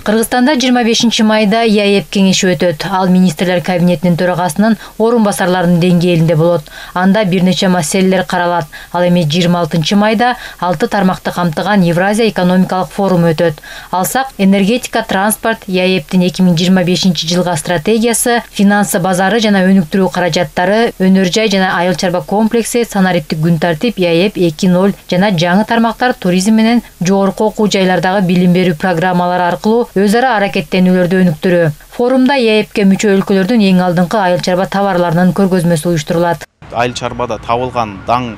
Кыргызстанда 25 майда ЯЭП кеңеши өтөт. Ал министрлер кабинетинин төрагасынын орун басарларынын деңгээлинде болот. Анда бир нече маселелер каралат. Ал эми 26 майда 6 тармакты камтыган Евразия экономикалык форуму өтөт. Алсак, энергетика, транспорт, ЯЭПтин 2025 жылга стратегиясы, финансы базары жана өнүктүрүү каражаттары, өнөр жай жана айыл чарба комплекси, санариптик күн тартип, ЯЭП 2.0 жана жаңы тармактар туризм менен жогорку окуу жайлардагы билим берүү программалары аркылуу өз ара аракеттенүүлөрдү өнүктүрүү. Форумда ЯЭПке мүчө өлкөлөрдүн эң алдыңкы айыл чарба товарларынын көргөзмөсү уюштурулат. Айыл чарбада табылган даң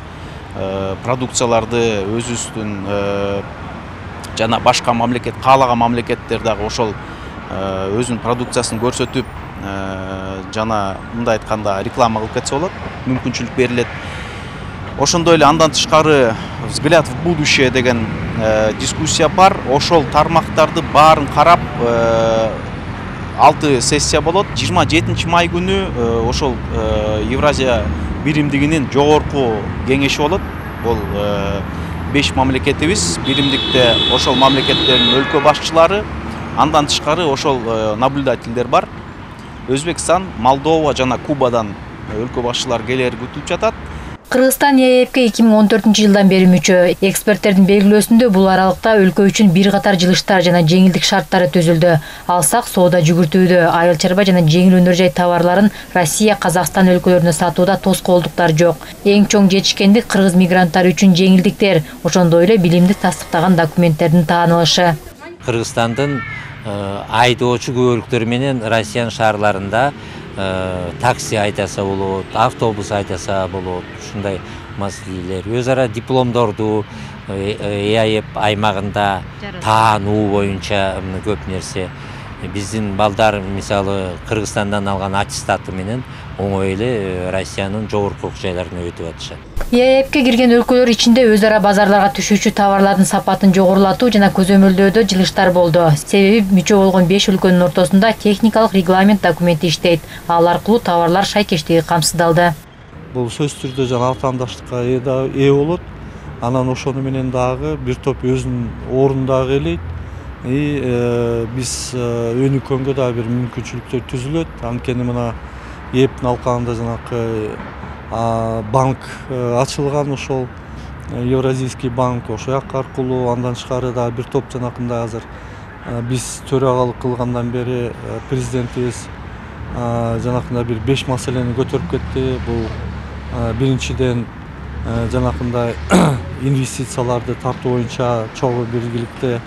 продукцияларды өзүбүздүн жана башка мамлекет каалаган мамлекеттер дагы ошол өзүнүн продукциясын көрсөтүп жана мындай айтканда реклама кылып кетсе болот, мүмкүнчүлүк берилет. Ошондой эле андан тышкары взгляд в будущее деген дискуссия бар. Ошол тармактарды баарын карап 6 сессия болот. 27 май күнү ошол Евразия биримдигинин жогорку кеңеши болот. Бул 5 мамлекетибиз, биримдикте ошол мамлекеттердин өлкө башчылары, андан тышкары ошол наблюдательдер бар. Өзбекстан, Молдова жана Кубадан өлкө башчылары келери күтүлүп жатат. Кыргызстан ЯЭПке 2014 жылдан бери мүчө. Эксперттердин белгилөөсүндө бул аралыкта өлкө үчүн бир катар жылыштар жана жеңилдик шарттары түзүлдү. Алсак, соода жүгүртүүдө, айыл чарба жана жеңил өнөр жай товарларын Россия, Казакстан өлкөлөрүнө сатууда тоскоолдуктар жок. Эң чоң жетишкендик кыргыз мигранттары үчүн жеңилдиктер, ошондой эле билимди тастыктаган документтердин таанылышы. Кыргызстандын айдоочу көбөлүктөрү менен Россиянын шаарларында такси айдаса болот, автобус айдаса болот, ушундай маселелер. Өз ара дипломдорду ЯЭП аймагында таануу боюнча көп нерсе. Биздин балдар мисалы Кыргызстандан алган аттестаты менен оңой эле Россиянын жогорку окуу жайларына өтүп атышат. ЯЭПке кирген өлкөлөр ичинде өз ара базарларга түшүүчү товарлардын сапатын жогорулатуу жана көзөмөлдөөдө жылыштар болду. Себеби мүчө болгон 5 өлкөнүн ортосунда техникалык регламент документи иштейт. Ал аркылуу товарлар шайкештиги камсыздалды. Бул сөзсүз түрдө жана атаандаштыкка ээ болот. Анан ошону менен дагы бир топ өзүнүн орунундагы элейт. Биз өнүккөнгө дагы бир мүмкүнчүлүктөр түзүлөт. Анткени мына ЯЭПтин алкагында жанакы банк ачылган, ошол Евразийский банк ошол аркылуу, андан тышкары дагы бир топ жанакындай азыр биз төрагалык кылгандан бери президентибиз жанакындай бир 5 маселени көтөрүп кетти. Бул биринчиден жанакындай инвестицияларды тартуу боюнча чогуу биргиликте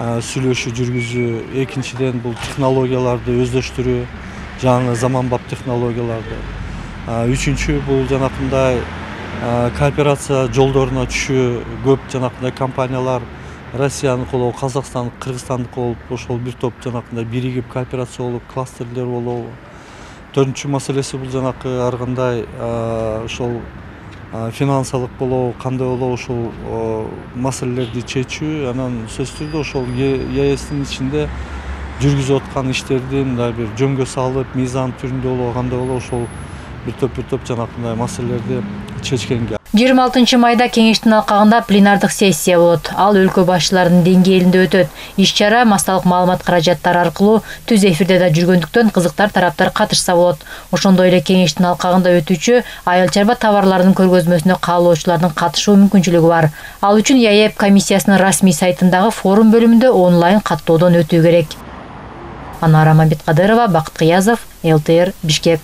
сүйлөшүү жүргүзүү, экинчиден бул технологияларды өздөштүрүү, жаңы заманбап технологияларды. Үчүнчү бул жанакындай кооперация жолдоруна түшүү, көп жанакындай компаниялар Россиянын колу, Казакстан, Кыргызстандыкы болуп, ошол бир топ жанакындай биригип кооперация болуп, кластерлер болобу. Төртүнчү маселеси бул жанакы ар кандай ошол финансылык болобу, кандай болобу ошол маселелерди чечүү. Анан сөзсүз түрдө ошол ЯЭСтин ичинде жүргүзүп аткан иштердин мындай бир жөнгө салып, мыйзам түрүндө болобу, кандай болобу, ошол бир топ жанакындай маселелерди чечкенге. 26 майда кеңештин алкагында пленардык сессия болот. Ал өлкө башчыларынын деңгээлинде өтөт. Иш-чара массалык маалымат каражаттары аркылуу түз эфирде да жүргөндүктөн кызыктар тараптар катышса болот. Ошондой эле кеңештин алкагында өтүүчү айыл чарба товарларынын көргөзмөсүнө каалоочулардын катышуу мүмкүнчүлүгү бар. Ал үчүн ЯЭП комиссиясынын расмий сайтындагы форум бөлүмүндө онлайн каттоодон өтүү керек. Анара Мамбеткадырова, Бакыт Кыязов, ЛТР, Бишкек.